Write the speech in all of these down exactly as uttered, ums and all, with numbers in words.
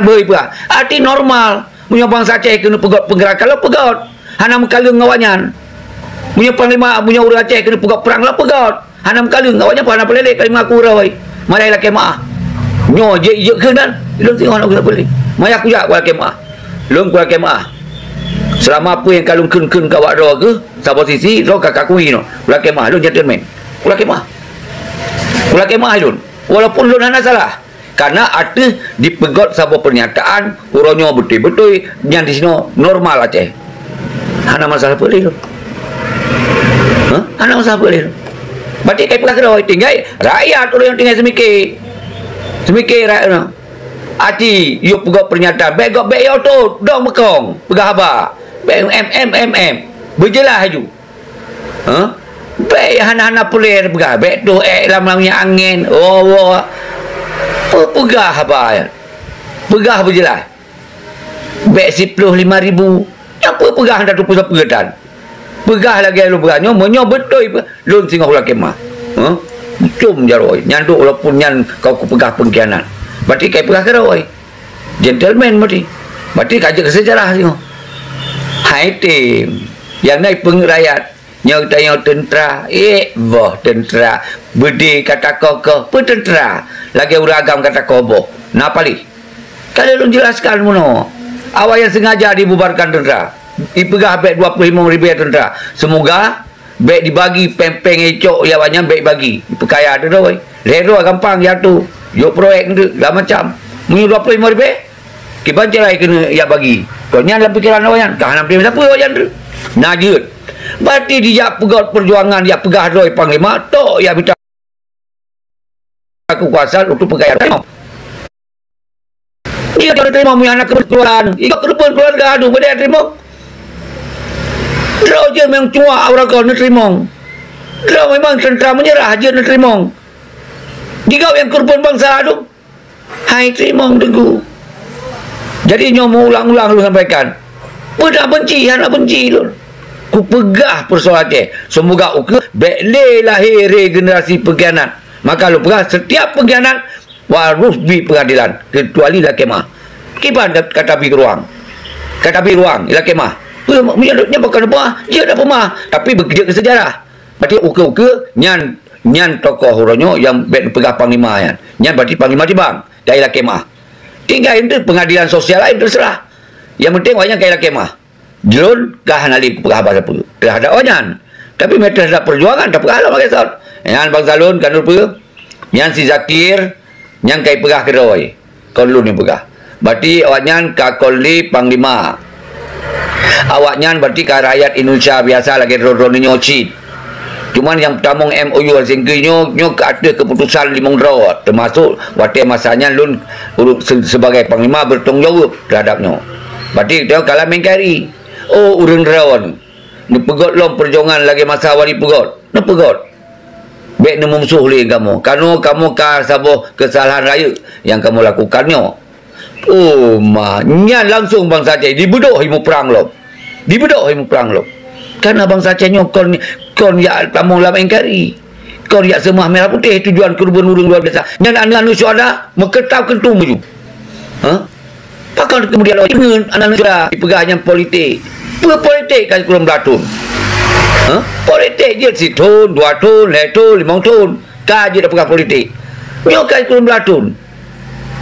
beuh peugah. Arti normal. Meunyoe bansa Aceh keuneuk peugöt peunggeurakan, lôn peugöt. Hana meukaleueng ngon awaknyan. Meunyoe panglima, meunyoe ureuëng Aceh keuneuk peugöt prang, lôn peugöt. Hana meukaleueng, awaknyan pun hana peureulée ka jimeungaku rhoi. Malah lakée meuáh. Nyoe jeuet, jeuet kheun kan? Lôn singoh hana peureulée. Maya kujak kulakée meuáh. Lôn kulakée meuáh. Seulama peue nyang ka lôn kheun-kheun keu awak droe kheueh, saboh sisi, droe ka kakui nyoe. Kulakée meuáh, lôn gentleman. Kulakée meuáh. Kulakée meuáh lôn. Walaupun lôn hana salah. Karena ateueh dipeugöt saboh peurnyataan, uroe nyoe beutôi-beutôi, nyan disinoe normal Aceh. Hana masalah peue lé lôn. Hah? Hana masalah peue lé lôn. Berarti kai peugah keudroe, tinggai rakyat ureuëng nyang tinggai seumiké. Seumiké rakyat nyoe. Aci, yue peugöt peurnyataan, bék göt bék yo tôt, dong meukong, peugah haba. Bék em, em, em, em. Beujeulaih laju. Hah? Bék hana-hana peue lé peugah, bék toh ék lam, lam minyeuk angén. Oh, oh. Peue peugah haba nyan? Peugah beujeulaih. Bék siploh lima ribu. Nyan peue peugah hana teupeue sapeue tan. Peugah lagée lôn peugah nyoe, meunyoe beutôi pe-, lôn singoh lakée meuáh. Hah? Cum jaroe, nyan duek walaupun nyan ka kupeugah peungkhianat. Berarti kai peugah keudroe. Gentleman berarti. Berarti ka jeuet keu seujarah singoh. Hai tem. Nyang na ipeungeuet rakyat. Nyoe tanyoe teuntra, ék boh teuntra, beudé ka takoh-koh, peue teuntra, lagée ureuëng agam ka takoh boh, na paléh. Ka lheueh lôn jelaskan meunoe, awak nyang sengaja dibubarkan teuntra, ipeugah bék dua ploh limong ribée teuntra, seumoga bék dibagi péng-péng nyang icok, ya awaknyan bék ibagi, ipeukaya teuh droe, lhée droe gampang jatuh, jok proyek nteuk, segala macam. Meunyoe dua ploh limong ribée, Kiban cara keuneuk jak bagi. Kon nyan lam pikeran awaknyan, ka hana meuteumé sapeue awaknyan tu. Na jeuet. Berarti dijak peugöt peujuangan, jak peugah droe panglima, tok jak mita keukuasaan untuk peugaya teurimong. Dia tak teurimong, meuhana keuluwarga. Ikot keuluwarga, aduh, beda teurimong. Droe jeuet memang cuak awak kon neuteurimong. Droe memang teuntara meunyeurah jeuet neuteurimong. Digawai nyang keureubeuen bansa tu. Hai teurimong Teungku. Jadi nyoe meuulang-ulang lôn sampaikan. Peue na benci, hana benci lôn. Kupeugah peusoal Aceh. Seumoga ukeue bék lé lahé regenerasi peungkhianat. Maka lôn peugah, setiap peungkhianat harôh bi peungadilan, keucuali lakée meuáh. Kiban ka, ka tabi ruang. Ka tabi ruang, lakée meuáh. Peue, meunyoe nyan bukan peumeuáh, jeuet dak peumeuáh, tapi beujeuet keu seujarah. Berarti ukeue-ukeue nyan, nyan tokoh uroe nyoe nyang bék neupeugah panglima nyan. Nyan berarti panglima tibang, ka ilakée meuáh. Tinggai enteuk peungadilan sosial laén teuseurah. Nyang penting awaknyan ka ilakée meuáh. Jeuet ka hana lé kupeugah haba sapeue teuhadap awaknyan. Tapi meunyo teuhadap peujuangan, tapeugah lom lagée sot. Nyan bansa lôn ka neupeue. Nyan si Zakir, nyan ka ipeugah keudroe. Kon lôn nyang peugah. Berarti awaknyan ka kon lé panglima. Awaknyan berarti ka rakyat Indonesia biasa lagée droe-droe nyoe cit. Cuman nyang peutamong M O U Helsinki nyoe, nyoe keu ateueh keuputusan limong droe, teumasok watée masa nyan lôn ureuëng se-, sebagai panglima bertanggung jaweueb teuhadap nyoe. Berarti geutanyoe ka lam N K R I. Oh, ureuëng droe neupeugöt lom peujuangan lagée masa Wali Peugöt. Neupeugöt. Bék neumusoh lé kamoe. Kanoe kamoe ka saboh keusalahan rayeuk nyang kamoe lakukan nyoe. Oh ma, nyan langsong bansa Aceh dibeudôh imuprang lom. Dibeudôh imuprang lom. Karena bansa Aceh nyoe kon, kon jak tamong lam N K R I. Kon jak seumah merah putih tujuan keureubeuen ureuëng luar biasa. Nyan aneuk-aneuk syuhada meukeutap keuntung maju. Ha? Pakon keumudian lôn deungon aneuk-aneuk syuhada jipeugah nyan politik. Peue politik ka sikureueng blaih thon? Ha? Politik jeuet sithon, dua thon, lhée thon, limong thon. Ka jeuet tapeugah politik. Nyoe ka sikureueng blaih thon.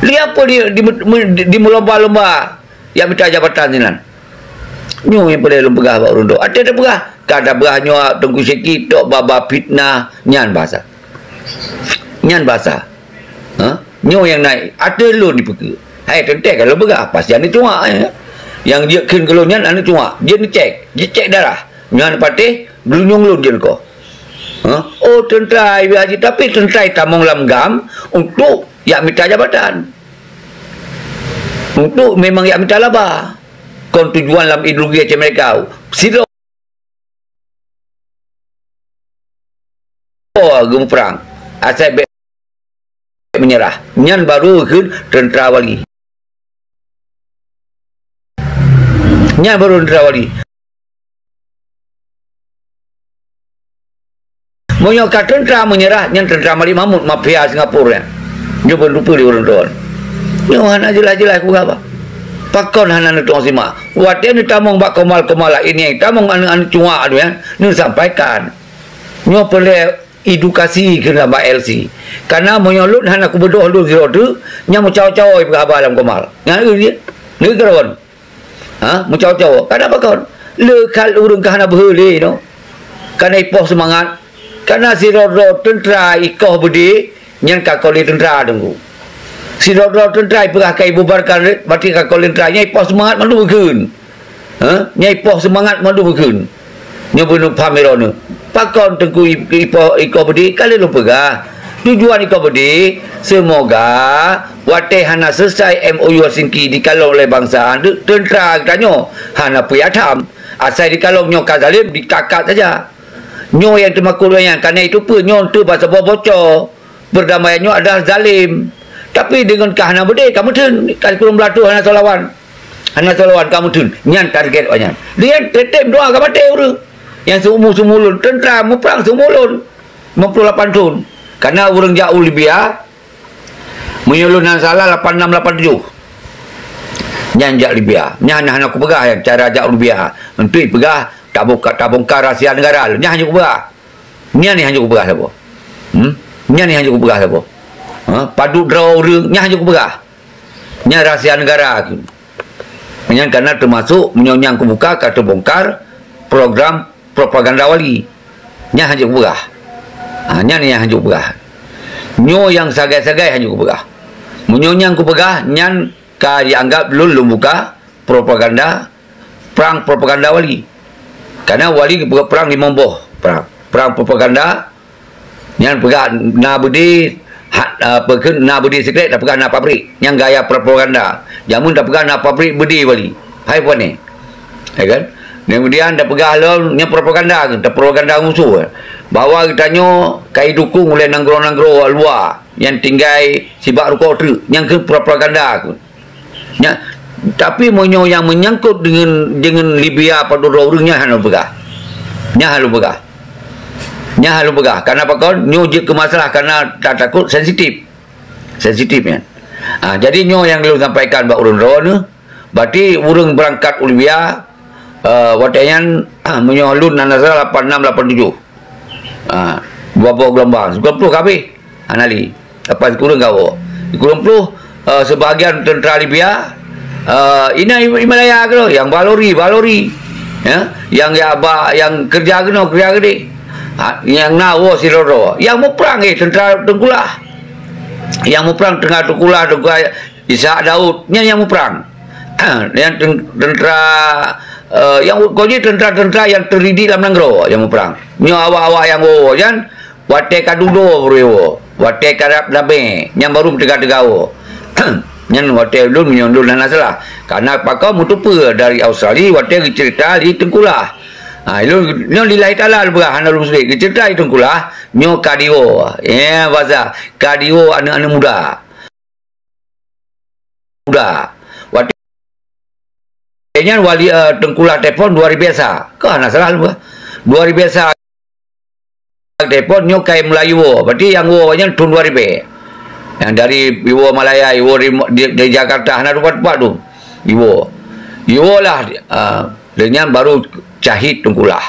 Lé peue di, di, di, dimeulomba-lomba jak mita jabatan sinan? Nyoe nyang peureulée lôn peugah bak ureuëng droe. Até tapeugah, ka tapeugah nyoe Teungku Syeki tok babah fitnah, nyan basa. Nyan basa. Ha? Nyoe nyang naik. Ateueh lôn dipeukeue. Hai teuntée ka lôn peugah, pasti aneuk cuak, eh. Nyang jeuet kheun keu lôn nyan aneuk cuak. Jeuet neucék, jeuet cék darah. Nyan patéh, geulunyueng lôn jeuet neukoh. Ha? Oh, teuntara I B Haji, tapi teuntara tamong lam GAM untuk jak mita jabatan. Untuk memang jak mita laba. Kon tujuan lam ideologi Aceh Merdeka. Sidroe geumuprang. Asai bék meunyeurah. Nyan baru kheun teuntara wali. Nyan baru teuntara wali. Meunyoe ka teuntara meunyeurah, nyan teuntara Malik Mahmud, mafia Singapura nyan. Nyoe peunteupeue di ureuëng droe. Nyoe hana jeulaih-jeulaih ku haba. Pakon hana neutueng simak? Watée neutamong bak komal-komal laén nyang tamong aneuk-aneuk cuak nyan, neusampaikan. Nyoe peureulée edukasi keu lam bak L C. Karena meunyoe lôn hana kubeudôh lôn sidroe teuk, nyan meucawo-cawo ipeugah haba lam komal. Nyan eu jih. Neu keurawan. Ha, meucawo-cawo. Karena pakon? Le khat ureuëng ka hana beuhe lé nyoe. Karena ipoh seumangat. Karena sidroe-droe teuntra ikoh beudé, nyan ka kon lé teuntra teungku. Sidroe-droe teuntra ipeugah ka ibubarkan, berarti ka kon lé teuntra, nyan ipoh seumangat mandum geukheun. Ha? Nyan ipoh seumangat mandum geukheun. Nyoe beuneuh paham droeneuh. Pakon teungku i-, ipoh ikoh beudé, ka lheueh lôn peugah. Tujuan ikoh beudé, seumoga watée hana seuleusoe M O U Helsinki dikalon lé bansa, teuntra geutanyoe hana peue tham. Asai dikalon nyoe ka zalim, dikakat saja. Nyoe nyang teumakot lé nyan, karena itu peue nyoe teuh basa boh bocor. Perdamaian nyoe adalah zalim. Tapi deungon ka hana beudé, ka meutheun, ka sikureueng blaih thon hana soe lawan. Hana soe lawan ka meutheun. Nyan target awak nyan. Dia tetem doa ka maté ureuëng. Nyang seumu-seumu lôn, teuntra muprang seumu lôn. Lima puluh lapan thon. Karena ureuëng jak u Libya, meunyoe lôn hana salah, lapan enam lapan tujuh. Nyan jak Libya. Nyan hana kupeugah nyan cara jak u Libya. Untuk peugah tabongka-, tabongkar rahsia negara. Nyan hana kupeugah. Nyan ni hana kupeugah saboh. Hmm? Nyan ni hana kupeugah saboh. Ha? Padub droe ureuëng, nyan hana kupeugah. Nyan rahsia negara. Nyan karena termasuk meunyoe nyang kubuka ka teubongkar program propaganda wali. Nyan hana kupeugah. Ha, nyan nyang hana kupeugah. Nyoe nyang sagai-sagai hana kupeugah. Meunyoe nyang kupeugah, nyan ka dianggap lôn, lôn buka propaganda, perang propaganda wali. Karena wali geupeugah perang limong boh perang. Perang propaganda, nyan peugah na beudé, ha, apa kheun, na beudé sikrék, dan peugah na pabrik. Nyan gaya propaganda. Jameun tapeugah na pabrik beudé wali. Hai pane. Ya kan? Kemudian tapeugah lom, nyan propaganda, tapropaganda musoh. Bahwa geutanyoe ka idukung uleh nanggroe-nanggroe luwa nyang tinggai sibak rukok treuk. Nyan keuh propaganda. Nya, tapi meunyoe nyang meunyangkot deungon, deungon Libya padub droe ureuëng, nyan hana lôn peugah. Nyan hana lôn peugah. Nyan hana lôn peugah. Karena pakon? Nyoe jeuet keu masalah karena tatakot sensitif. Sensitif nyan. Ha, jadi nyoe nyang lôn sampaikan bak ureuëng droeneuh, berarti ureuëng beurangkat u Libya, eh, watée nyan, meunyoe lôn hana salah lapan enam lapan tujuh. Ha, dua boh geulumbang, sikureueng ploh ka habéh. Hana lé. Lepas sikureueng ka woe. Sikureueng ploh, eh, sebahagian teuntra Libya, eh, inan i, i Malaya keudroe, nyang ba lori, ba lori. Ya, nyang ya ba, nyang keureuja keunoe, keureuja keudeh. Ha, nyang na woe sidroe-droe. Nyang muprang, eh, teuntra Teungku Lah. Nyang muprang teuntra Teungku Lah, Teungku Lah Ishak Daud, nyan nyang muprang. Nyan ten-, teuntra, eh, nyang kon jih teuntra-teuntra nyang teuridik lam nanggroe nyang muprang. Nyoe awak-awak nyang woe nyan, watée ka dudoe baru woe, watée ka rab damé, nyan baru meuteuga-teuga woe. Nyan watée lôn, meunyoe lôn hana salah. Karena pakon meutupeue dari Australia watée geuceurita di Teungku Lah. Ha, lôn, nyoe lillahi taala lôn peugah, hana lôn seudeh. Geuceurita di Teungku Lah, nyoe ka diwoe. Ya, bahasa, ka diwoe aneuëk-aneuëk muda. Muda. Watée nyan wali, eh, Teungku Lah telepon dua ribèe sa. Ka hana salah lôn. Dua ribèe sa telepon nyoe ka mulai iwoe. Berarti nyang woe nyan thon dua ribèe. Nyang dari iwoe Malaya, iwoe ri-, di, di Jakarta, hana teumpat-teumpat tu. Iwoe. Iwoe lah, ah, dan nyan baru syahid Teungku Lah.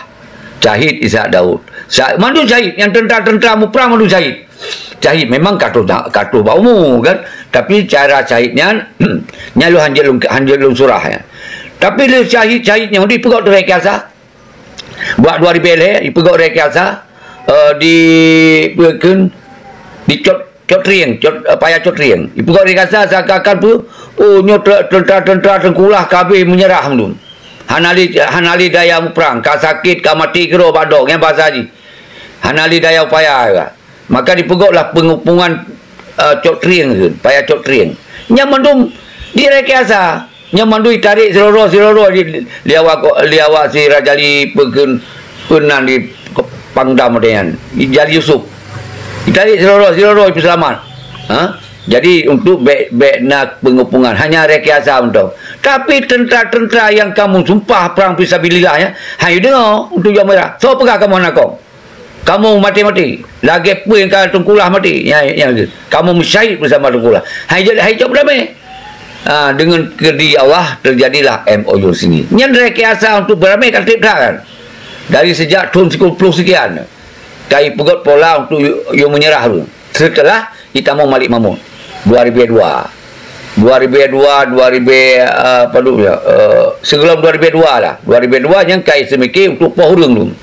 Syahid Ishak Daud. Sa-, mandum syahid, nyang teuntra-teuntra muprang mandum syahid. Syahid memang ka troh, ka troh bak umu kan. Tapi cara syahid nyan, nyan lôn hanjeuet lôn, hanjeuet lôn surah nyan. Tapi lé syahid-syahid nyan dipeugöt di rekayasa. Bak dua ribèe lhèe, dipeugöt rekayasa, eh, di, peue kheun, di Cot, Cot Trieng, Cot, eh, Paya Cot Trieng. Dipeugöt rekayasa seakan-akan peue, oh, nyoe te-, teuntra-teuntra Teungku Lah ka habéh meunyeurah mandum. Hana lé, hana lé daya muprang, ka sakét, ka maté keudroe bak dong, nyan bahasa jih. Hana lé daya upaya ka. Maka dipeugötlah peungepungan, eh, Cot Trieng kheun, Paya Cot Trieng. Nyan mandum direkayasa. Nyan mandum ditarek sidroe-droe, sidroe-droe di, di awak ko-, di awak si Rajali peue kheun, peue nan di Pangdam watèe nyan. Di Jali Yusuf. Ditarek sidroe-droe, sidroe-droe ipeuseulamat. Ha? Jadi untuk bèk, bèk na peungepungan, hanya rekayasa mantong. Tapi teuntra-teuntra nyang ka meusumpah prang fisabilillah nyan, han deungö untuk jaweueb meurah. Soe peugah kamoe hana kong? Kamoe maté-maté. Lagèe peue nyang ka Teungku Lah maté. Nyan, nyan, kamoe meusyahid beusama Teungku Lah. Hai jeuet, hai jeuet beudamé. Ah, dengan keureuji Allah, teujadilah M O U sini. Nyan rekayasa untuk beuramé ka treb that kan. Dari sejak thon sikureueng ploh sekian, ka ipeugöt pola untuk yue, yue meunyeurah dulu. Seuteulah itamong Malik Mahmud, dua ribu dua. Dua ribu dua, dua ribu, eh, padum ya, eh, sigohlom dua ribu dua lah. Dua ribu dua nyan ka iseumiké untuk poh ureuëng dulu.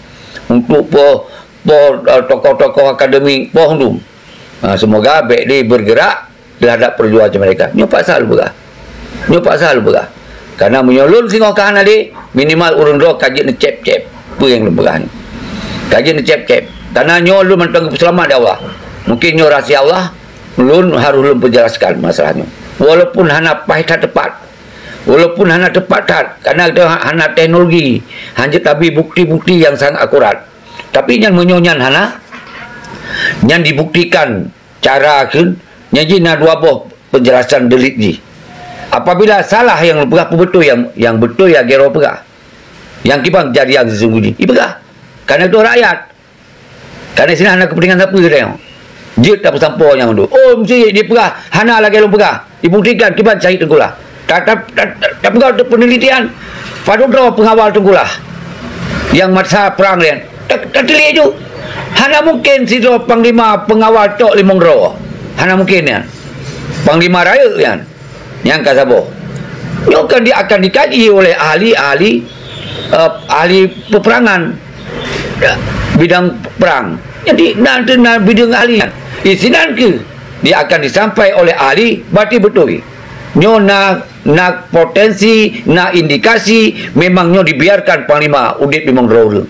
Untuk poh, poh, eh, tokoh-tokoh akademik poh dulu. Ha, semoga bék lé bergerak terhadap perjuangan mereka. Nyoe paksa lôn peugah. Nyoe paksa lôn peugah. Karena meunyoe lôn singoh ka hana lé, minimal ureuëng droe ka jeuet neucép-cép peue nyang lôn peugah nyoe. Ka jeuet neucép-cép. Karena nyoe lôn mantong geupeuseulamat lé Allah. Mungkin nyoe rahsia Allah, lôn harôh lôn peujelaskan masalah nyoe. Walaupun hana paih that teupat, walaupun hana teupat that, karena geutanyoe ha-, hana teknologi, hana jeuet tabi bukti-bukti nyang sangat akurat. Tapi nyan meunyoe nyan hana, nyan dibuktikan cara kheun, nyan jih na dua boh penjelasan delik jih. Apabila salah nyang lôn peugah, peubeutôi nyang, nyang beutôi nyang geutanyoe peugah. Nyang kiban kejadian sesungguhnya, ipeugah. Karena itu rakyat. Karena sinan hana kepentingan sapeue geutanyoe. Jeuet tapeusampoe nyang tu. Oh, mesti dipeugah, hana lagée lôn peugah. Dibuktikan kiban syahid Teungku Lah. Ta-, ta-, ta-, ta-, tapeugah untuk penelitian, padub droe pengawal Teungku Lah nyang masa perang nyan. Ta-, tateuliek ju. Hana mungkin sidroe panglima pengawal tok limong droe. Hana mungkin nyan. Panglima rayeuk nyan. Nyang ka saboh. Nyoe kan di, akan dikaji oleh ahli-ahli, eh, ahli peperangan, ya, bidang perang. Jadi, na, na bidang ahli. Di sinan keuh dia akan disampai oleh ahli, berarti beutôi. Nyoe na, na potensi, na indikasi memang nyoe dibiarkan panglima udeb limong droe ureuëng.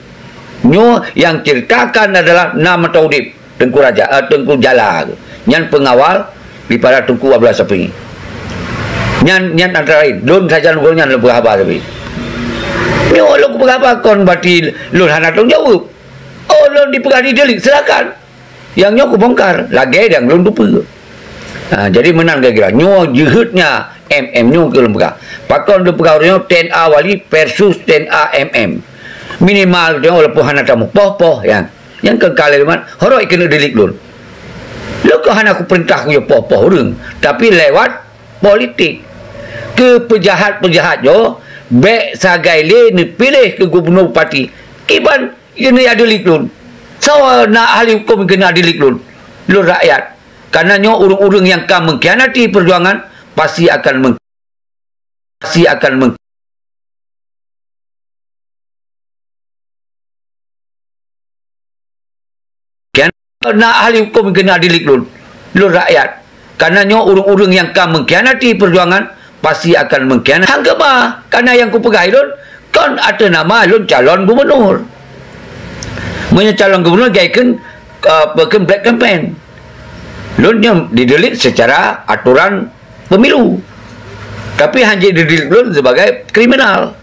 Nyoe nyang ceritakan adalah na mantong udeb. Teungku Raja, eh, Teungku Jala tu. Nyan pengawal daripada Teungku Abdullah Syafi'i. Nyan, nyan antara lain. Lôn sajan gobnyan lôn peugah haba tapi. Nyoe lôn peugah haba kon berarti lôn hana tanggung jaweueb. Oh, lôn dipeugah didelik, silakan. Nyang nyoe kubongkar, lagée nyang lôn tupeue. Ha, jadi meunan kira-kira. Nyoe jeuheutnya M M nyoe keu lôn peugah. Pakon lôn peugah uroe nyoe T N A Wali versus T N A M M. Minimal nyoe walaupun hana tamu poh-poh, ya. Nyang keu kali leumat, horok keuneuk dilik lôn. Lôn keu hana kupeurintah kuyue poh-poh ureuëng, tapi lewat politik. Keu peujahat-peujahat nyoe, bék sagai lé neupiléh keu gubunur bupati. Kiban keuneuk dilik lôn. Soe na ahli huköm keuneuk dilik lôn? Lôn rakyat. Karena nyoe ureuëng-ureuëng nyang ka mengkhianati perjuangan, pasti akan meng-, pasti akan meng-, Kian-, na ahli huköm keuneuk dilik lôn, lôn rakyat. Karena nyoe ureuëng-ureuëng nyang ka mengkhianati perjuangan, pasti akan mengkhianati. Hang keuma, karena nyang kupeugah lôn, kon ateueh nama lôn calon gubunur. Meunyoe calon gubunur, gai kheun, eh, kheun black campaign. Lôn nyoe didelik secara aturan pemilu. Tapi hana didelik lôn sebagai kriminal.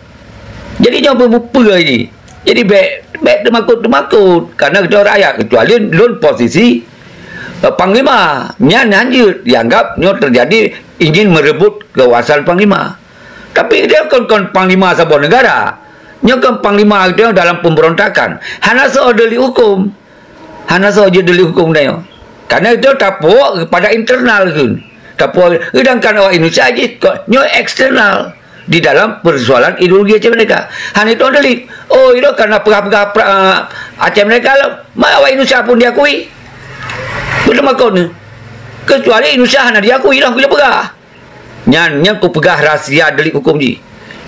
Jadi nyoe beupeue jih. Jadi bék, bék teumakot-teumakot karena geutanyoe rakyat, kecuali lôn posisi, eh, panglima. Nyan hana jeuet dianggap nyoe terjadi ingin merebut kekuasaan panglima. Tapi geutanyoe kon, kon panglima saboh negara. Nyoe kon panglima geutanyoe dalam pemberontakan. Hana soe delik huköm. Hana soe jeuet delik huköm geutanyoe. Karena itu tapuok kepada internal kheun. Tapuok, sedangkan awak Indonesia jih ko-, nyoe eksternal di dalam persoalan ideologi Aceh Merdeka. Hana itu delik. Oh, itu karena peugah-peugah pra-, Aceh Merdeka lah. Ma awak Indonesia pun diakui. Beuteumakot ni. Kecuali Indonesia hana diakui lah, bila peugah. Nyan, nyan kupeugah rahsia delik huköm jih.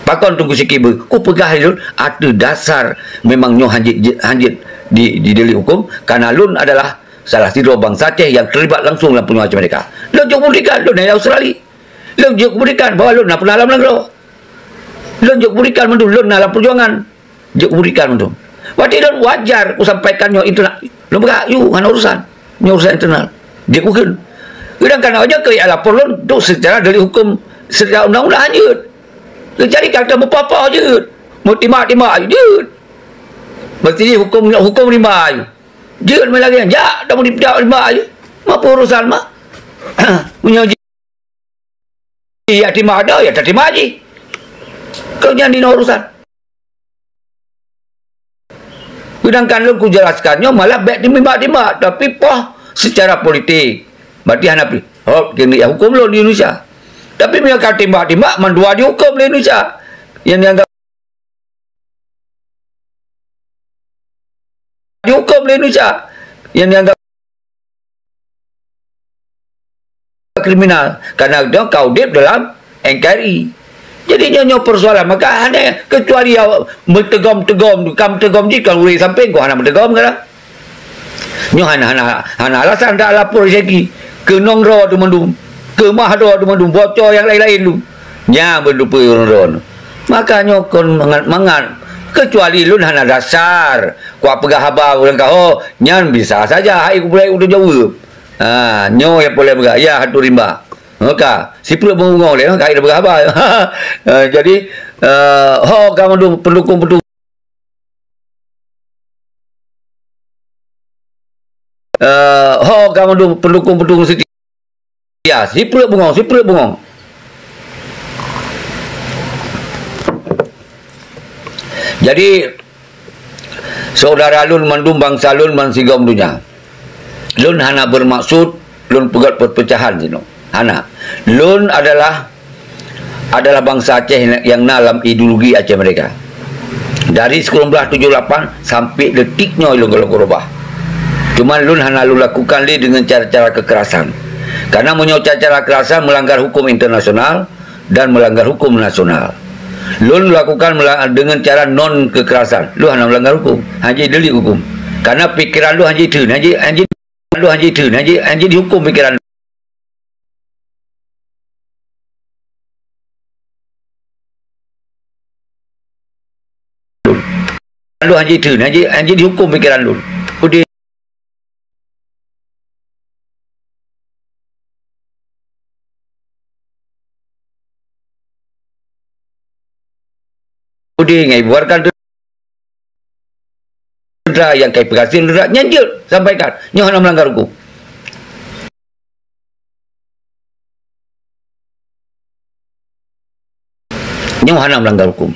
Pakon Teungku Syiek beu? Kupeugah lôn ateueh dasar memang nyoe hana jeuet, hana jeuet di, di delik huköm, karena lôn adalah salah sidroe bansa Aceh nyang terlibat langsung dalam perjuangan Aceh Merdeka. Lôn jok buktikan, lôn na di Australia. Lôn jok buktikan bahwa lôn na pernah lam nanggroe. Lôn jok buktikan mandum lôn na lam perjuangan. Jeuet kuberikan mandum. Berarti lôn wajar kusampaikan nyoe internal. Lôn peugah, "Yu, hana urusan. Nyoe urusan internal." Jeuet kukheun. Sedangkan awak nyoe keu jak lapor lôn, tu secara delik huköm, secara undang-undang jeuet. Jadi kata meupoh-poh jeuet. Meutimak-timak jeuet. Mesti huköm, huköm rimba jeuet. Jeuet meunan lagèe nyan. Jak, dak meutimak rimba jeuet. Meunyoe urusan mah. Meunyoe Iya, terima ada, ya terima aja. Kau jangan dina urusan. Sedangkan lôn kujelaskan nyoe malah bèk timbak-timbak, tapi poh secara politik. Berarti hana pi-, hop, kena ya hukum lôn di Indonesia. Tapi meunyoe ka timbak-timbak, mandua dihuköm lé Indonesia. Nyang dianggap dihuköm lé Indonesia. Nyang dianggap kriminal. Karena dia ka udép dalam N K R I. Jadi nyoe, nyoe persoalan. Maka hana, kecuali awak meuteugom-teugom, ka meuteugom jih, ka ureuëng sampéng, kok hana meuteugom kan? Nyoe hana, hana, hana alasan dak lapor Syeki. Keunong droe teuh mandum. Keumah droe teuh mandum. Bocor nyang laén-laén tu. Nyan beuteupeue ureuëng droe. Maka nyoe kon mangat-mangat. Kecuali lôn hana dasar. Kupeugah haba ureuëng kaho, nyan bisa saja hai geupeulai udeb jaweueb. Ha, nyoe nyang poleh peugah, ya hatu rimba. Maka, siplek beungong lé, ka ida peugah haba. Eh, jadi, eh, ho ka mandum pendukung-pendukung, eh, ho ka mandum pendukung-pendukung setia. Siplek beungong, siplek beungong. Jadi, saudara lôn mandum, bansa lôn bansigom donya. Lôn hana bermaksud lôn peugét perpecahan sinoe. Hana. Lôn adalah, adalah bansa Aceh nyang na lam ideologi Aceh Merdeka. Dari sikureueng blaih tujoh lapan sampai detik nyoe lôn golom keurubah. Cuman lôn hana lôn lakukan lé dengan cara-cara kekerasan. Karena meunyoe cara-cara kekerasan melanggar hukum internasional dan melanggar hukum nasional. Lôn lakukan mela-, dengan cara non kekerasan. Lôn hana melanggar hukum. Hana delik hukum. Karena pikiran lôn hana theun, hana, hana, lôn hana theun, hana, hana dihukum pikiran lôn. Lôn hana theun, hana, hana dihukum pikiran lôn. Udeh Udeh ngai buarkan teuntara nyang kai peugah sien teuntara nyan jeuet sampaikan. Nyoe hana melanggar hukum. Nyoe hana melanggar hukum.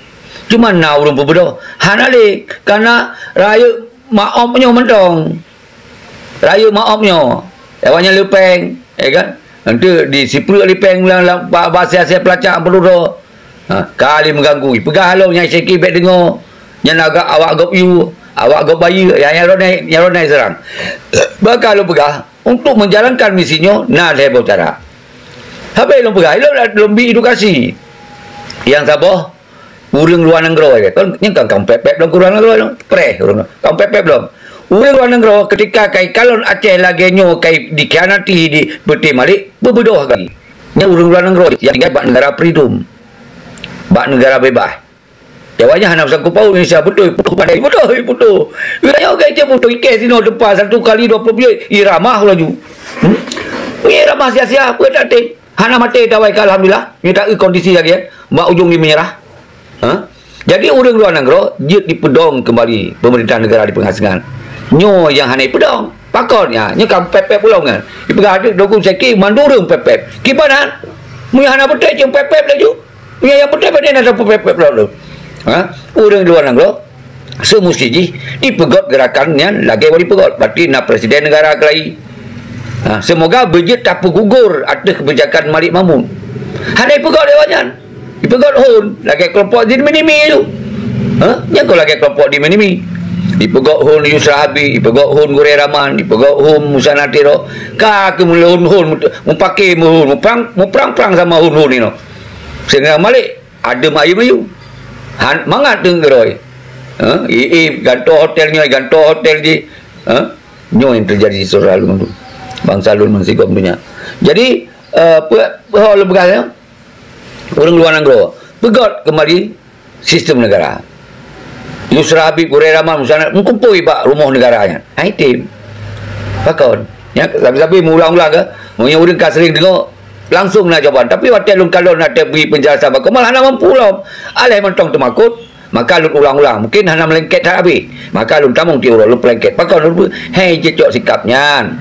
Cuma na ureuëng peubeudôh. Hana lé, karena rayeuk maob nyoe mantong. Rayeuk maob nyoe. Awaknyan le péng, ya kan? Nanti disiplek lé péng lam, lam ba-, ba-, asia-asia peulacak peuludô. Ha, ka lé meuganggu. Peugah lom nyang sakét bék deungoe. Nyan agak awak gob yue, awak gob bayeue, ya, nyang ronai, nyang ronai seurang. Maka lôn peugah, untuk menjalankan misi nyoe, na lhée boh cara. Sabe lôn peugah, lôn, lôn bi edukasi. Nyang saboh, ureuëng luwa nanggroe, ya. Kan, nyang kan, kan pép-pép lom ureuëng nanggroe, lom. Preh, ureuëng, kan pép-pép lom. Ureuëng luwa nanggroe, ketika kai kalon Aceh lagée nyoe, kai dikhianati di peuté Malik, beubeudôh lagi. Nyan ureuëng luwa nanggroe, nyang tinggai bak negara freedom. Bak negara bebas. Awaknyan hana beusangkot paut Indonesia, beutôi, beutôi, beutôi, beutôi. Nyoe kai cit beutôi, ikeh sinoe teumpat satu kali dua puluh bilik, iramah laju. Hmm? Iramah sia-sia, peue tak tem. Hana maté tawai ka, alhamdulillah. Nyoe tak kondisi lagi, eh. Bak ujong di menyerah. Ha? Jadi, ureuëng luwa nanggroe jeuet dipeudong keumbali peumeurintah negara di peungasingan. Nyoe nyang hana ipeudong. Pakon, ya, nyoe ka pép-pép ulôn kan. Ipeugah adak dokum seki mandum ureuëng pép-pép. Kiban han? Meunyoe hana beutôi, cuma pép-pép laju. Meunyoe nyang beutôi, padahai na pép-pép laju. Ha? Ureuëng luwa nanggroe, seumusti jih dipeugét gerakan nyan lagée wali peugét. Berarti na presiden negara keulai. Ha, semoga beujeuet tapeugugur ateueh kebijakan Malik Mahmud. Hana ipeugét lewat nyan. Ipeugét hon, lagée kelompok di Minimi tu. Ha? Nyang kon lagée kelompok di Minimi. Ipeugét hon Yusra Habib, ipeugét hon Gurée Rahman, ipeugét hon Musa Natiro. Ka keuh meulhon-hon, mupake meuhon, muprang, muprang-prang sama hon-hon inoe. Sehingga Malik adem ayem ayue. Han, mangat teungeuroi. Ha? Ié, gantoe hotel nyoe, gantoe hotel jih. Ha? Nyoe nyang teujadi di saudara lôn tu. Bansa lôn meusigom donya. Jadi, eh, peue, peue lôn peugah nyoe? Ureuëng luwa nanggroe. Peugét keumbali sistem negara. Yusra Habib, Gurée Rahman, Musa Natiro, meukumpôi bak rumoh negara nyan. Hai tem. Pakon? Nya, sabe-sabe meuulang-ulang ke? Meunyoe ureuëng ka sering deungoe, langsung na jawaban. Tapi watée lôn kalon na teubri peunjelasan bak, malah hana mampu lom. Aléh mantong teumakot, maka lôn ulang-ulang. Mungkin hana meulengket that habéh. Maka lôn tamong tiep uroe lôn peulengket. Pakon lôn, hai jeuet cok sikap nyan.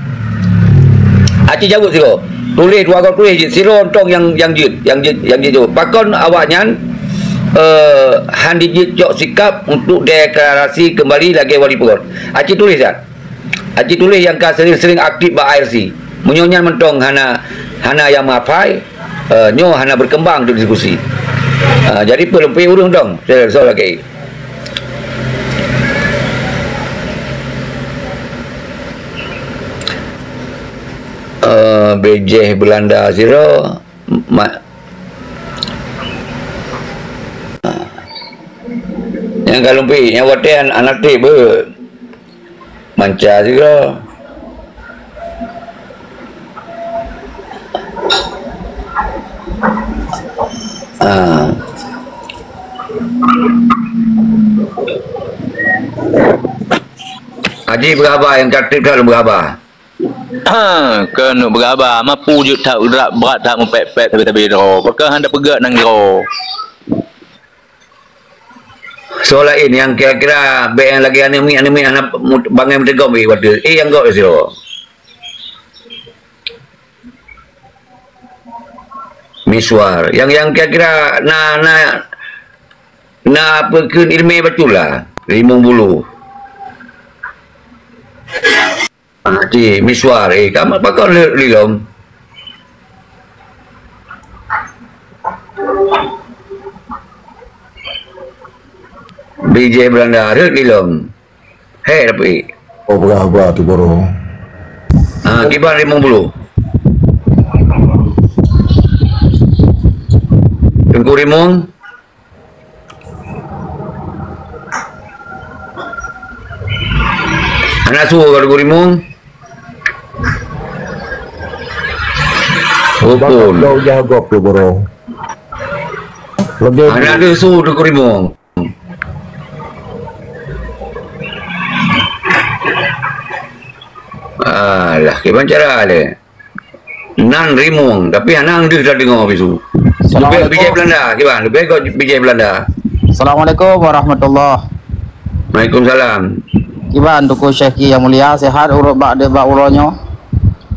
Aci jaweueb sidroe. Tuléh dua goe tuléh jeuet. Sidroe mantong nyang, nyang jeuet, nyang jeuet, nyang jeuet jaweueb. Pakon awaknyan, eh, han jijeuet cok sikap untuk deklarasi keumbali lagée wali peugét. Aci tuléh that. Aci tuléh nyang ka sering-sering aktif bak I R C. Meunyoe nyan mantong hana, hana nyang meuhafai, Eh, nyoe hana berkembang untuk diskusi. Ah, jadi peuleumpih ureuëng dong, saya soal lagi. Eh, B J Belanda sira, ma-, nyang ka lumpih, nyang watée an-, anak teh be. Manca juga. Ah. Haji berhaba yang kreatif dah berhaba. Ha, keuneuk berhaba, mapu jeuet that brat, brat that mupet-pet sabe-sabe droe. Pakon hana peugah nanggroe. Soe laén nyang kira-kira bék nyang lagée aneuk miet, aneuk miet hana mut-, bangai meuteugom bak watée. Eh, nyang gok sidroe. Miswar. Nyang, nyang kira-kira na, na, na peukheun ileumé bacut lah. Rimueng Bulu. Ah, cit, Miswar, eh, kamoe pakon le-, lilom? B J Belanda, rhot lilom. Hei, tapi. Oh, berah-berah tu, Boro. Ah, kiban Rimueng Bulu. Teungku Rimueng. Hana su ka Teungku Rimueng. Rukun. Bang, kau jaga tu, Boro. Lagi hana ada su Teungku Rimueng. Alah, kiban cara le. Nan Rimueng, tapi hana deuh tadeungoe bisu. Leubeh Assalamualaikum. B J Belanda, kiban, leubeh kok B J Belanda. Assalamualaikum warahmatullah. Waalaikumsalam. Kiban Teungku Syekh Ki yang mulia, sehat ureuëng bak de bak uroe nyoe?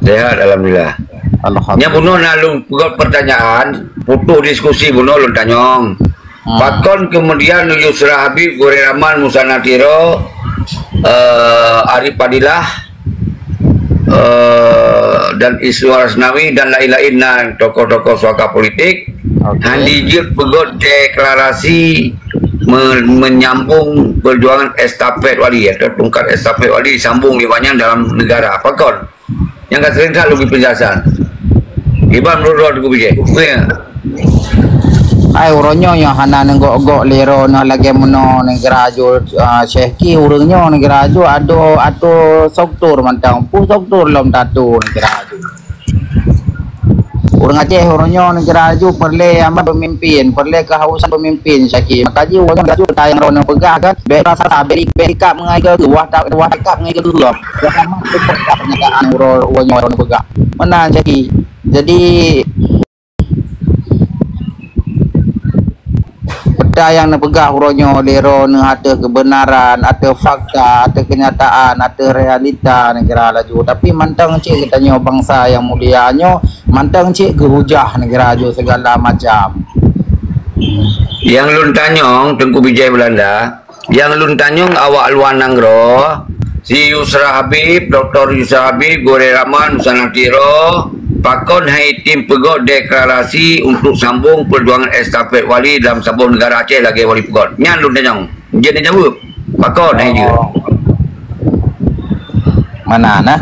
Sehat, alhamdulillah. Alhamdulillah. Nya bunoe na lôn peugah pertanyaan, putus diskusi bunoe lôn tanyong. Hmm. Pakon kemudian Yusra Habib, Goreng Rahman, Musa Natiro, eh, Arif Fadilah, eh, dan Iswar Asnawi dan lain-lain na tokoh-tokoh suaka politik, oke, han dijeuet peugöt deklarasi me-, menyambung perjuangan estafet wali atau tungkat estafet wali disambung lé awaknyan dalam negara. Pakon? Nyang ka sering that lôn bri penjelasan. Iban meurot-rot Teungku Bijéh. Hai, uroe nyoe nyang hana neugok-gok lé droeneuh lagée meunoe neugara ju, ah, Syekh Ki ureuëng nyoe neugara ju ado atô struktur mantong. Peue struktur lom tatô neugara ju. Ureuëng Aceh uroe nyoe neugara ju peureulée amat peumimpin, peureulée keuhausan peumimpin Syekh Ki. Maka jih uroe nyoe neugara ju tayang droeneuh peugah kan, bék rasa, bék, bék ikab ngon keu wah ta-, wah ikab ngon keu lom. Wah amat peureulée pernyataan uroe, uroe nyoe droeneuh peugah. Meunan Syekh Ki. Jadi, peue nyang neupeugah uroe nyoe lé droeneuh ateueh keubeunaran, ateueh fakta, ateueh keunyataan, ateueh realita neugara laju. Tapi mantong cit geutanyoe bansa nyang mulia nyoe, mantong cit geuhujah neugara laju sigala macam. Nyang lôn tanyong, Teungku Bijéh Belanda, nyang lôn tanyong awak luwa nanggroe, si Yusra Habib, Doktor Yusra Habib, Goreng Rahman, Musa Natiro, pakon han item peugöt deklarasi untuk sambung perjuangan estafet wali dalam saboh negara Aceh lagée wali peugöt? Nyan lôn tanyong. Jeuet neujaweueb. Pakon han jeuet? Mana nah?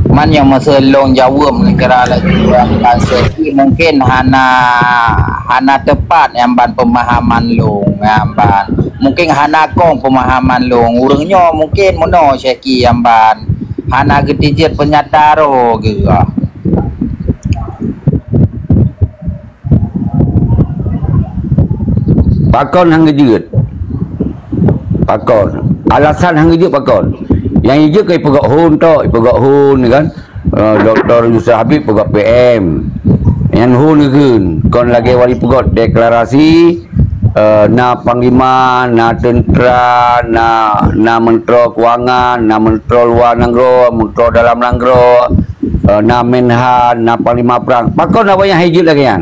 Man nyang meuseulong jaweueb neugara laju, mungkin hana, hana teupat nyang ban peumahaman lôn, nyang ban. Mungkin hana kong peumahaman lôn. Ureuëng nyoe mungkin meunoe Syekh Ki nyang ban hana geutijeuet peunyata roh geuh. Pakon han geujeuet? Pakon? Alasan han geujeuet pakon? Nyang jijeuet keu ipeugöt hon tok, ipeugöt hon kan. Eh, Doktor Yusra Habib peugöt P M. Nyan hon geukheun, kon lagée wali peugöt deklarasi, eh, na panglima, na teuntra, na, na menteri keuangan, na menteri luwa nanggroe, menteri dalam nanggroe, eh, na menhan, na panglima prang. Pakon awaknyan han jeuet lagée nyan?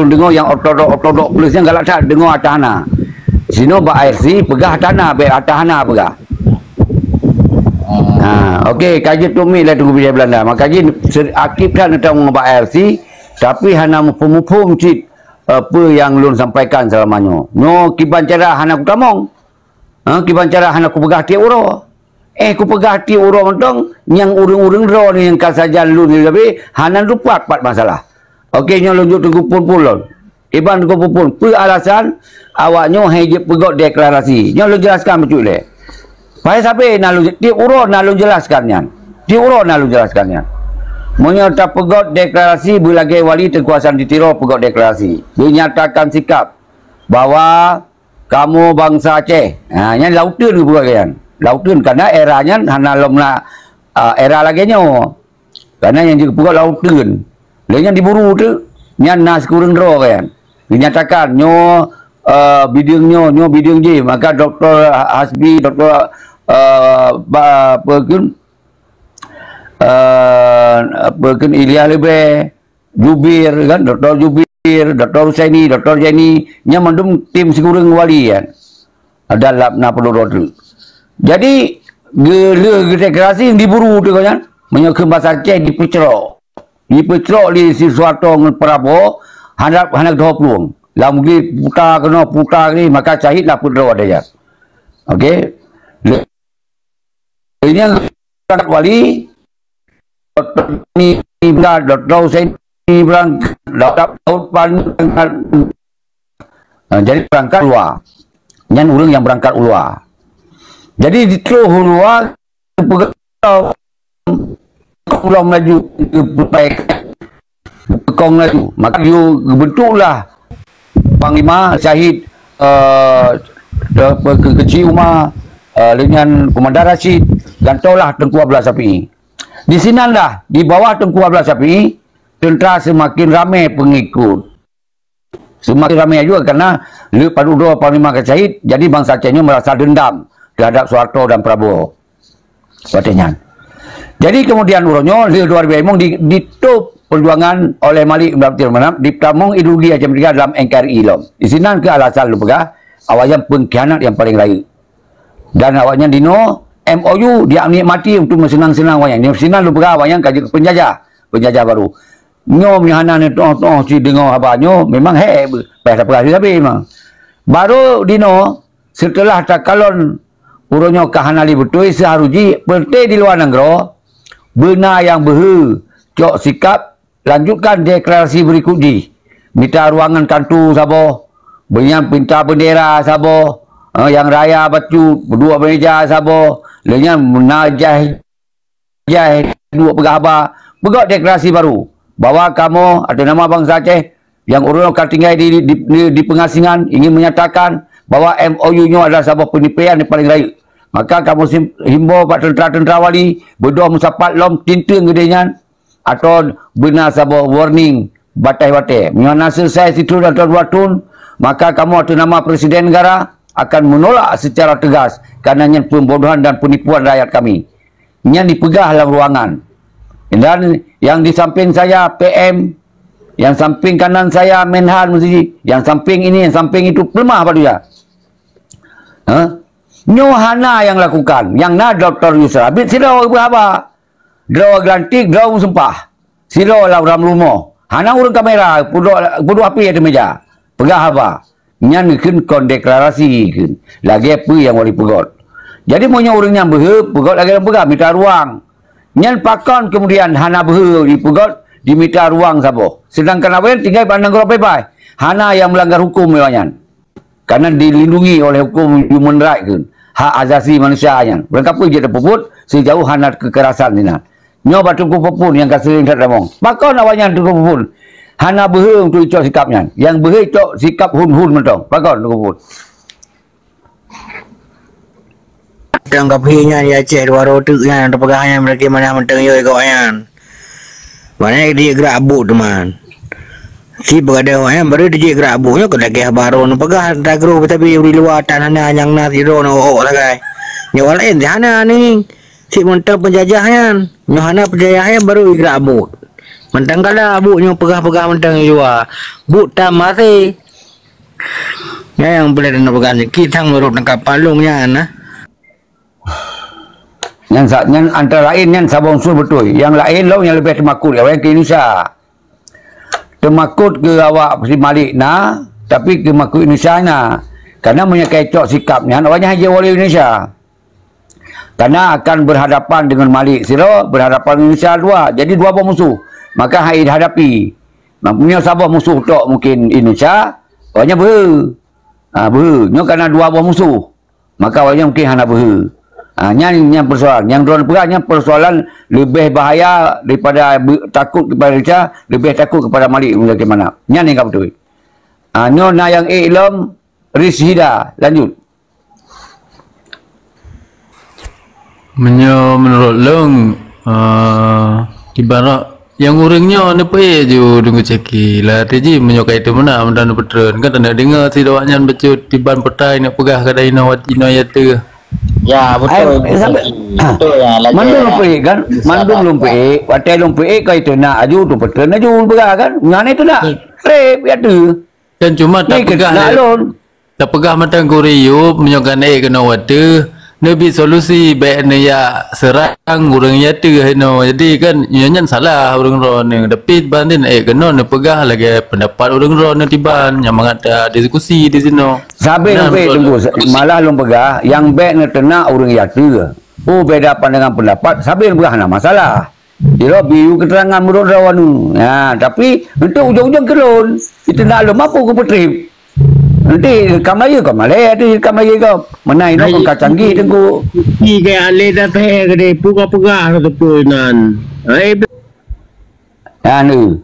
ureuëng deungoe nyang ortodok-ortodok plus nyan galak that deungoe ata hana. Sinoe bak A R C peugah ata hana, bèk ata hana peugah. Ha, okey, ka jeuet tumiet lé Teungku Bijéh Beulanda. Maka jih ser-, akib that neutamong bak A R C, tapi hana muphom-muphom cit, eh, peue nyang lôn sampaikan seulama nyoe. Nyoe kiban cara hana kutamong. Ha, kiban cara hana kupeugah tiep uroe. Eh, kupeugah tiep uroe mantong, nyang ureuëng-ureuëng droeneuh nyang ka sajan lôn lé hana lupat pat masalah. Okey, nyoe lôn jok Teungku phon-phon lôn. Iban Teungku phon-phon, peue alasan awak nyoe hai jeuet peugöt deklarasi? Nyoe lôn jelaskan bacut lé. Pai sabe na lôn, tiep uroe na lôn jelaskan nyan. Tiep uroe na lôn jelaskan nyan. Meunyoe tapeugöt deklarasi beulagèe wali Teungku Hasan di Tiro peugöt deklarasi. Dinyatakan sikap bahwa kamoe bansa Aceh. Ha, nyan lam uteuen geupeugah nyan. Lam uteuen, karena era nyan hana lom na, ah, era lagèe nyoe. Karena nyang jipeugah lam uteuen. Lé nyan diburu teuk, nyan na sikureueng droe nyan. Dinyatakan nyoe, eh, bideueng nyoe, nyoe bideueng jih. Maka Doktor Hasbi, Doktor, eh, ba, apa kheun, eh, apa kheun, Ilyas Leubè, Jubir kan, Doktor Jubir, Doktor Husaini, Doktor Jaini, nyan mandum tim sikureueng wali kan. Ada lap na peuduek droe teuk. Jadi, geulheueh geudeklarasi diburu teuk nyan, meunyoe kheun basa Aceh dipeucrok. Dipeucrok lé si Suharto ngon Prabowo, hana, hana geudoh plueng. Lam geuputa keunoe, puta keunoe, maka syahid lah peuet droe ada nyan. Okey. Lé Ini yang berangkat wali, Doktor Ni berangkat, Doktor Hussein ni berangkat, Doktor Daud Pan berangkat. Nah, jadi berangkat luar. Nyan ureuëng yang berangkat luar. Jadi di terus luar, peugah Pulang laju, peukong laju. Maka gebentuklah panglima syahid, eh, ke-, ke-, Keuchik Uma, eh, dengan Komandan Rashid, gantolah Teungku Abdullah Syafi'i. Di sinan dah, di bawah Teungku Abdullah Syafi'i, teuntara seumaken ramé peungikut. Seumaken ramé juga karena le padub droe panglima ka syahid, jadi bansa Aceh nyoe merasa dendam terhadap Soeharto dan Prabowo. Watèe nyan. Jadi kemudian uroe nyoe le dua ribu limong di, ditôb perjuangan oleh Malik bin Abdul Manaf, ditamong ideologi Aceh Merdeka dalam N K R I lom. Di sinan keuh alasan lôn peugah, awaknyan pengkhianat yang paling rayeuk. Dan awaknyan dinoe M O U dinikmati untuk meuseunang-seunang awaknyan. Di sinan lôn peugah awaknyan ka jeuet keu penjajah, penjajah baru. Nyoe meunyoe hana neutoh-toh si deungoe haba nyoe, memang hék beuh, payah tapeugah sabe memang. Baru dinoe, seuteulah takalon uroe nyoe ka hana lé beutôi, seuharus jih, peureté di luwa nanggroe, beuna nyang beuhe, cok sikab, lanjutkan deklarasi berikut jih. Mita ruangan kantu saboh, beunyan mita beundera saboh, eh, nyang raya bacut, peuduek meja saboh, lheueh nyan na jai jai duek peugah haba, peugöt deklarasi baru bahwa kamoe atau nama bansa Aceh nyang ureuëng ka tinggai di, di, di, di pengasingan ingin menyatakan bahwa M O U nyoe adalah saboh peunipian yang paling rayeuk. Maka kamoe sim-, himbau bak teuntara-teuntara wali, beudôh meusapat lom tinteung geude nyan atau beuna saboh warning batèe-batèe. Meunyoe hana selesai sithon atau dua thon, maka kamoe atau nama Presiden Negara akan menolak secara tegas karena nyan pembodohan dan penipuan rakyat kami. Nyan dipeugah lam ruangan. Dan yang di samping saya P M, yang samping kanan saya Menhan mesti, yang samping ini, yang samping itu, peuleumah bak dia. Ha? Nyoe hana nyang lakukan. Nyang na Doktor Yusra Abid sidroe geupeugah haba. Droe geulantik, droe meusumpah. Sidroe lam rumoh. Hana ureuëng kamera, peuduek, peuduek api ateueh meja. Peugah haba. Nyan kheun kon deklarasi kheun. Lagèe peue nyang wali peugöt. Jadi meunyoe ureuëng nyan beuhe, peugöt lagèe nyang peugah, mita ruang. Nyan pakon kemudian hana beuhe jipeugöt, jimita ruang saboh. Sedangkan awaknyan tinggai bak nanggroe beubai. Hana nyang meulanggar huköm awaknyan. Karena dilindungi oleh hukum human right kheun, hak asasi manusia nyan. Ureuëng kapeue jeuet tapeubuet sejauh hana kekerasan sinan. Nyoe bak Teungku Peupun nyang ka sering that tamong. Pakon awaknyan Teungku Peupun hana beuhe untuk icok sikap nyan? Nyang beuhe icok sikap hun-hun mantong. Pakon Teungku Peupun? Nyang ka pih nyan di Aceh dua roh teuk nyan teupeugah nyan bagaimana mantong yoi kawak nyan. Mana dia gerak abut teman. Si begadang awaknyan baru dijak gerak abut nyoe keu lagèe baru neupeugah tagroh tapi di luwa tan hana nyang na sidroe na ôk sagai. Nyoe laén di hana ni. Cit mantong penjajah nyan. Nyoe hana penjajah nyan baru gerak abut. Mantong kala abut nyoe peugah-peugah mantong di luwa. But tam maté. Nyan nyang boleh neupeugah niki sang ureuëng tangkap palong nyan nah. Nyan sa-, nyan antara laén nyan saboh unsur beutôi. Nyang laén lom nyang leubeh teumakot awaknyan keu Indonesia. Teumakot keu awak si Malik na, tapi keu makot Indonesia na. Karena meunyoe ka icok sikap nyan, awaknyan hana jeuet woe lé Indonesia. Karena akan berhadapan dengan Malik sidroe, berhadapan dengan Indonesia dua. Jadi dua boh musuh. Maka hai dihadapi. Nah, meunyoe saboh musuh tok mungkin Indonesia, awaknyan beuhe. Ha, beuhe. Nyoe karena dua boh musuh. Maka awaknyan mungkin hana beuhe. Ha, nyan, nyan persoalan. Nyang droeneuh peugah nyan persoalan leubeh bahaya daripada be-, takot kepada Indonesia, leubeh takot kepada Malik Muzakir Manaf. Nyan nyang ka beutôi. Ha, nyoe na nyang ék lom, Rizhida, lanjut. Meunyoe meunurot lôn, eh, ibarat nyang ureuëng nyoe neupeuék ju deungon caki. Lah teuji meunyoe ka itu meunan, meunan neupeutrön. Kan taneuk deungoe sidroe nyan bacut tiban peutai neuk peugah keuhai inoe wat-, inoe ya teuh. Ya, betul. Ai, sampai, betul ya, lagèe mandum neupeuék kan? Mandum lôn peuék, watèe lôn peuék ka itu nak aju tu peutrön aju peugah kan? Nyan itu nak. Rep ya teuh. Kan cuma tak peugah nak lé. Lôn. Tapeugah mantong keu ureuëng Ayub, meunyoe ka na ék keunoe watèe, neubi solusi, bèk neujak seurang ureuëng nyang teuh inoe. Jadi kan, nyoe nyan salah ureuëng droeneuh. Tapi ban teuh na ék keunoe neupeugah lagèe pendapat ureuëng droeneuh tiban, nyang mangat ta diskusi di sinoe. Sabe lôn peuék, Teungku, malah lôn peugah, nyang bèk neuteunak ureuëng nyang teuh. Oh, beda pandangan pendapat, sabe lôn peugah hana masalah. Di lôn bri keterangan meunurot droeneuh. Ha, tapi untuk ujong-ujong keu lôn, itu nak lôn mampu kupeutrép. Nanti ka Melayu ka malèe, nanti ka Melayu ka. Meunan inoe ka canggih Teungku. Pi kaya alèh dah teuh keudéh, peugah-peugah teupeu nan. Hai. Anu.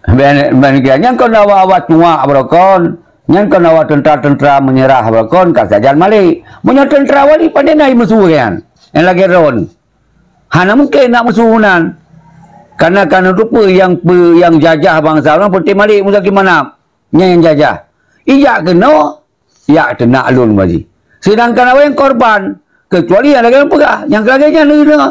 Ben, ben kira nyan kon awak-awak cuak barokon. Nyan kon awak tentara-tentara menyerah barokon ka sajan Malik. Meunyoe tentara wali pandai na musuh nyan. Nyang lagèe droeneuh. Hana mungken nak musuh nan. Karena, karena rupa nyang pe-, nyang jajah bansa ureuëng peunteng Malik Muzakir Manaf. Nyan nyang jajah. Ijak keunoe, yak teunak lôn baji. Sedangkan awaknyan korban, kecuali nyang lagèe lôn peugah, nyang lagèe nyan lagèe nyoe.